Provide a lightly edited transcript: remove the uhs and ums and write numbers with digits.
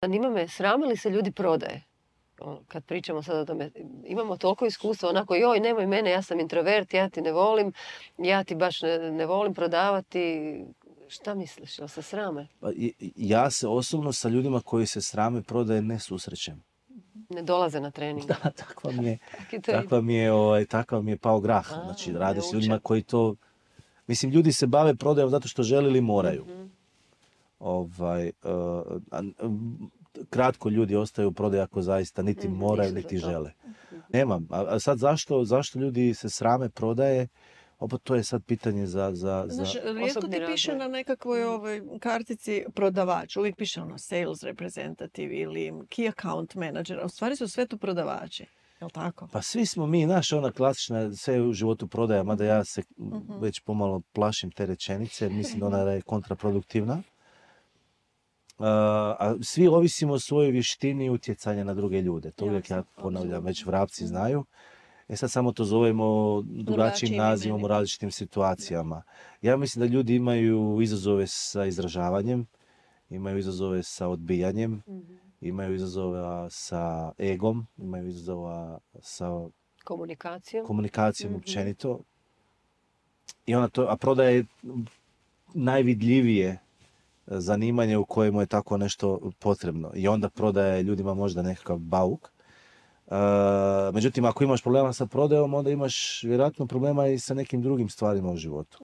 Zanima me, srame li se ljudi prodaje? Kad pričamo sad o tome, imamo toliko iskustva, onako, joj, nemoj mene, ja sam introvert, ja ti ne volim, ja ti baš ne volim prodavati. Šta misliš, jel se srame? Ja se osobno sa ljudima koji se srame prodaje ne susrećem. Ne dolaze na trening. Da, takav mi je pao grah. Znači, radi s ljudima koji to... Mislim, ljudi se bave prodajom zato što žele ili moraju. Kratko ljudi ostaju u prodaji ako zaista niti moraju, niti žele. Nemam. A sad zašto ljudi se srame prodaje? Opet to je sad pitanje za Znaš, rijetko ti piše na nekakvoj kartici prodavač. Uvijek piše sales representative ili key account manager. A u stvari su sve tu prodavači. Jel' tako? Pa svi smo mi, ona klasična, sve u životu prodaja, mada ja se već pomalo plašim te rečenice, mislim da ona je kontraproduktivna. A svi ovisimo o svojoj vještini utjecanja na druge ljude. To uvijek ja ponavljam, već vrapci znaju. Sad samo to zovemo drugačijim nazivom u različitim situacijama. Ja mislim da ljudi imaju izazove sa izražavanjem, imaju izazove sa odbijanjem, imaju izazova sa egom, imaju izazova sa komunikacijom općenito. A prodaja je najvidljivije zanimanje u kojemu je tako nešto potrebno. I onda prodaje ljudima možda nekakav bauk. Međutim, ako imaš problema sa prodajom, onda imaš vjerojatno problema i sa nekim drugim stvarima u životu.